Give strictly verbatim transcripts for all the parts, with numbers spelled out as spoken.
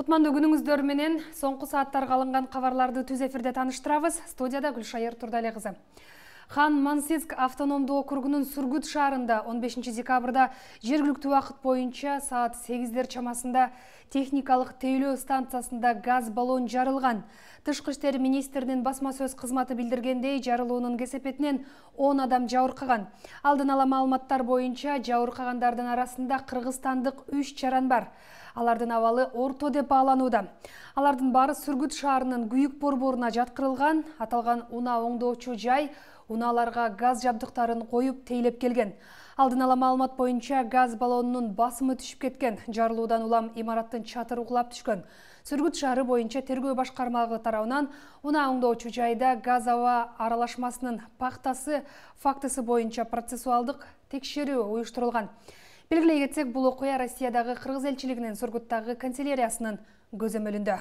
Кутмандуу күнүңүздөр менен соңку сааттарга алынган кабарларды түз эфирде тааныштырабыз. Студияда Гүлшайыр Турдале кызы. Хан-Мансийск автономдуу округунун Сургут шаарында он бешинчи декабрда жергиликтүү убакыт боюнча саат сегиздер чамасында техникалык тейлөө станциясында газ баллон жарылган. Тышкы иштер министринин басма сөз кызматы билдиргендей, жарылуунун кесепетинен он адам жабыркаган. Алдын ала маалыматтар боюнча жабыркагандардын арасында кыргызстандык үч жаран бар. Алардын абалы орто деп бааланууда. Алардын баары Сургут шаарынын Күйүк борборуна жаткырылган. Аталган унаа оңдоочу жай унааларга газ жабдыктарын коюп тейлеп келген. Алдын ала маалымат боюнча газ баллонунун басымы түшүп кеткен. Жарылуудан улам имараттын чатыры кулап түшкөн. Сургут шаары боюнча тергөө башкармалыгы тарабынан унаа оңдоочу жайда газ аба аралашмасынын пактасы фактысы боюнча процессуалдык текшерүү уюштурулган. Белгилей кетсек, бул окуя Россиядагы кыргыз элчилигинин Сургуттагы канцеляриясынын көзөмөлүндө.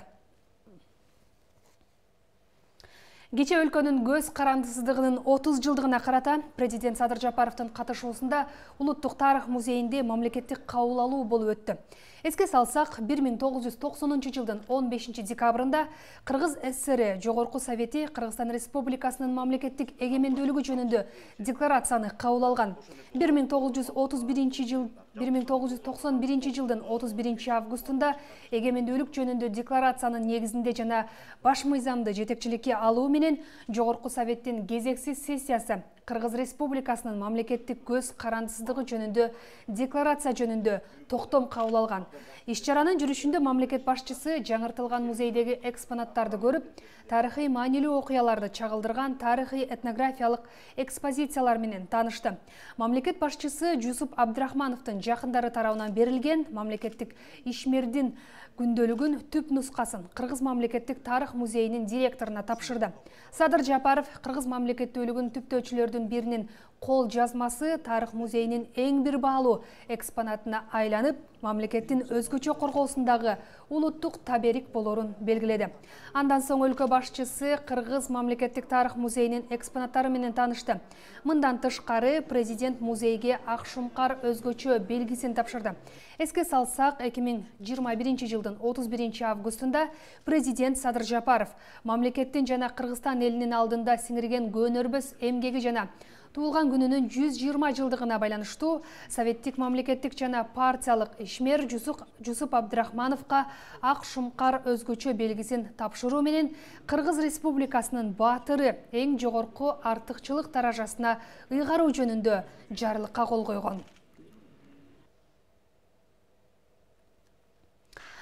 Кечээ өлкөнүн көз карандысыздыгынын отуз жылдыгына карата президент Садыр Жапаровдун катышуусунда Улуттук тарых музейинде мамлекеттик кабыл алуу болуп өттү. Эске салсак, бир миң тогуз жүз токсонунчу жылдын он бешинчи декабрында Кыргыз ССР Жогорку Совети Кыргызстан Республикасынын мамлекеттик эгемендүүлүгү жөнүндө декларацияны кабыл алган. бир миң тогуз жүз отуз биринчи жыл бир миң тогуз жүз токсон биринчи жылдын отуз биринчи августунда эгемендүүлүк жөнүндө декларациянын негизинде жана баш мыйзамды жетекчиликке алуу менен Жогорку Советтин кезексиз сессиясы Кыргыз Республикасынын мамлекеттик көз карандысыздыгы жөнүндө декларация жөнүндө токтом кабыл алган. Иш-чаранын жүрүшүндө мамлекет башчысы жаңыртылган музейдеги экспонаттарды көрүп, тарыхый маанилүү окуяларды чагылдырган тарыхый этнографиялык экспозициялар менен таанышты. Мамлекет башчысы Жусуп Абдрахмановдун жакындары тарабынан берилген мамлекеттик ишмердин күндөлүгүн түп нускасын Кыргыз мамлекеттик тарых музейинин директоруна тапшырды. Садыр Жапаров Кыргыз мамлекеттүүлүгүн түптөөчүлөрдүн биринин кол жазмасы тарых музейинин эң бир баалуу экспонатына айланып, мамлекеттин өзгөчө коргоосундагы улуттук таберик болорун белгиледи. Андан соң өлкө башчысы Кыргыз мамлекеттик тарых музейинин экспонаттары менен таанышты. Мындан тышкары президент музейге ак шумкар өзгөчө белгисин тапшырды. Эске салсак, эки миң жыйырма биринчи жылдын отуз биринчи августунда президент Садыр Жапаров мамлекеттин жана Кыргызстан элинин алдында сиңирген көнөрбөс эмгеги жана туулган күнүнүн жүз жыйырма жылдыгына байланыштуу советтик мамлекеттик жана партиялык ишмер Жусуп Абдрахмановго ак шумкар өзгөчө белгисин тапшыруу менен Кыргыз Республикасынын баатыры эң жогорку артыкчылык даражасына ыйгаруу жөнүндө жарлыкка кол койгон.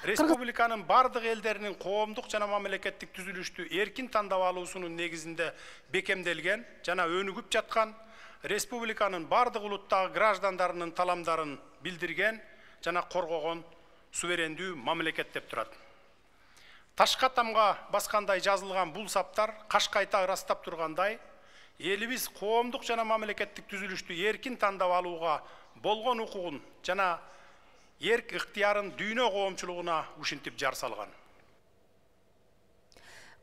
Республиканын бардык элдеринин коомдук жана мамлекеттик түзүлүштү эркин тандап алуусунун негизинде бекемделген жана өнүгүп жаткан, республиканын бардык улуттагы граждандарынын таламдарын билдирген жана коргогон суверендүү мамлекет деп турат. Ташка тамга баскандай жазылган бул саптар кашкайта ырастап тургандай, элибиз коомдук жана мамлекеттик түзүлүштү эркин тандап алууга болгон укугун жана эрк ыктыярын дүйнө коомчулугуна ушинтип жар салган.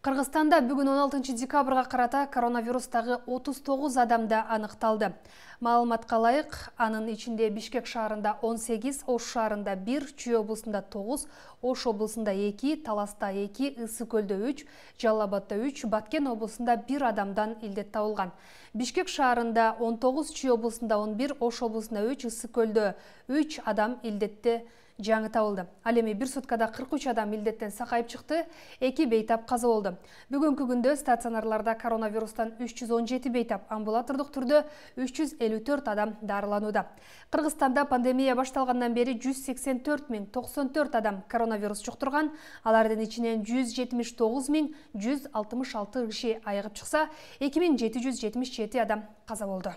Кыргызстанда бүгүн он алтынчы декабрга карата коронавирустагы отуз тогуз адамда аныкталды. Маалыматка ылайык, анын ичинде Бишкек шаарында он сегиз, Ош шаарында бир, Чүй облусунда тогуз, Ош облусунда эки, Таласта эки, Ысык көлдө үч, Жалал абадда үч, Баткен облусунда бир адамдан илдет табылган. Бишкек шаарында он тогуз, Чүй облусунда он бир, Ош облусунда үч, Ысык көлдө үч адам илдетте жаңы табылды. Ал эми бир суткада кырк үч адам илдеттен сакайып чыкты, эки бейтап каза болду. Бүгүнкү күндө стационарларда коронавирустан үч жүз он жети бейтап, амбулатордук түрдө үч жүз элүү төрт адам дарыланууда. Кыргызстанда пандемия башталгандан бери жүз сексен төрт миң токсон төрт адам коронавирус жуктурган, алардын ичинен жүз жетимиш тогуз миң жүз алтымыш алты киши айыгып чыкса, эки миң жети жүз жетимиш жети адам каза болду.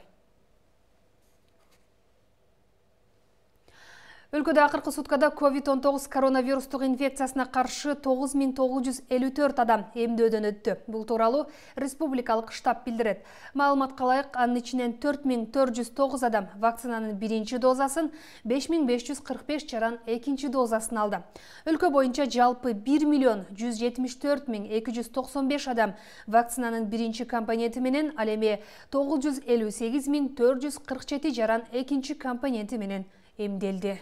Өлкөдө акыркы суткада ковид он тогуз коронавирустук инфекциясына каршы тогуз миң тогуз жүз элүү төрт адам эмдөөдөн өттү. Бул тууралуу республикалык штаб билдирет. Маалыматка ылайык, анын ичинен төрт миң төрт жүз тогуз адам вакцинанын биринчи дозасын, беш миң беш жүз кырк беш жаран экинчи дозасын алды. Өлкө боюнча жалпы бир миллион жүз жетимиш төрт миң эки жүз токсон беш адам вакцинанын биринчи компоненти менен, ал эми тогуз жүз элүү сегиз миң төрт жүз кырк жети жаран экинчи компоненти менен эмделди.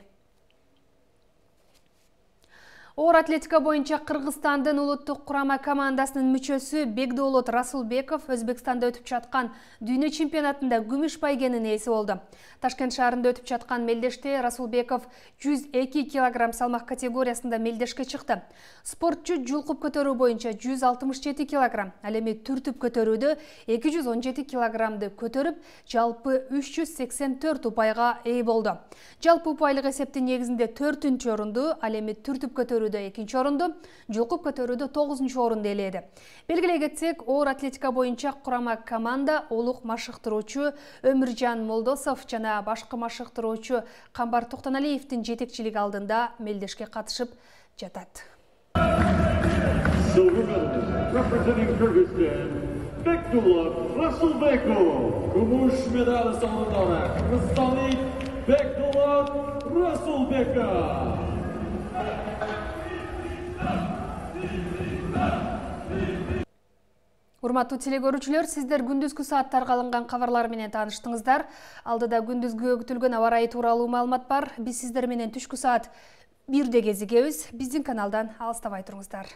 Оор атлетика боюнча Кыргызстандын улуттук курама командасынын мүчөсү Бекдолот Расулбеков Өзбекстанда өтүп жаткан дүйнө чемпионатында күмүш байгенин ээси болду. Ташкент шаарында өтүп жаткан мелдеште Расулбеков жүз эки килограмм салмак категориясында мелдешке чыкты. Спортчу жулкуп көтөрүү боюнча жүз алтымыш жети килограмм, ал эми түртүп көтөрүүдө эки жүз он жети килограммды көтөрүп, жалпы үч жүз сексен төрт упайга ээ болду. Жалпы упайлык эсептин негизинде төртүнчү орунду, ал эми түртүп көтөрүүдө экинчи орунду, жулкуп көтөрүүдө тогузунчу орунду ээледи. Белгилей кетсек, оор атлетика боюнча курама команда улук машыктыруучу Өмүржан Молдосов жана башкы машыктыруучу Камбар Токтоналиевдин жетекчилиги алдында мелдешке катышып жатат. Бекдолот Расулбеков, күмүш медаль соңундары кыргызстандык Бекдолот Расулбеков. Урматтуу телегөрүүчүлөр, сиздер күндүзгү сааттарга алынган кабарлар менен тааныштыңыздар. Алдыда күндүзгү күтүлгөн аба ырайы тууралуу маалымат бар. Биз сиздер менен түшкү саат бирде кезигебиз. Биздин каналдан алыстабай туруңуздар.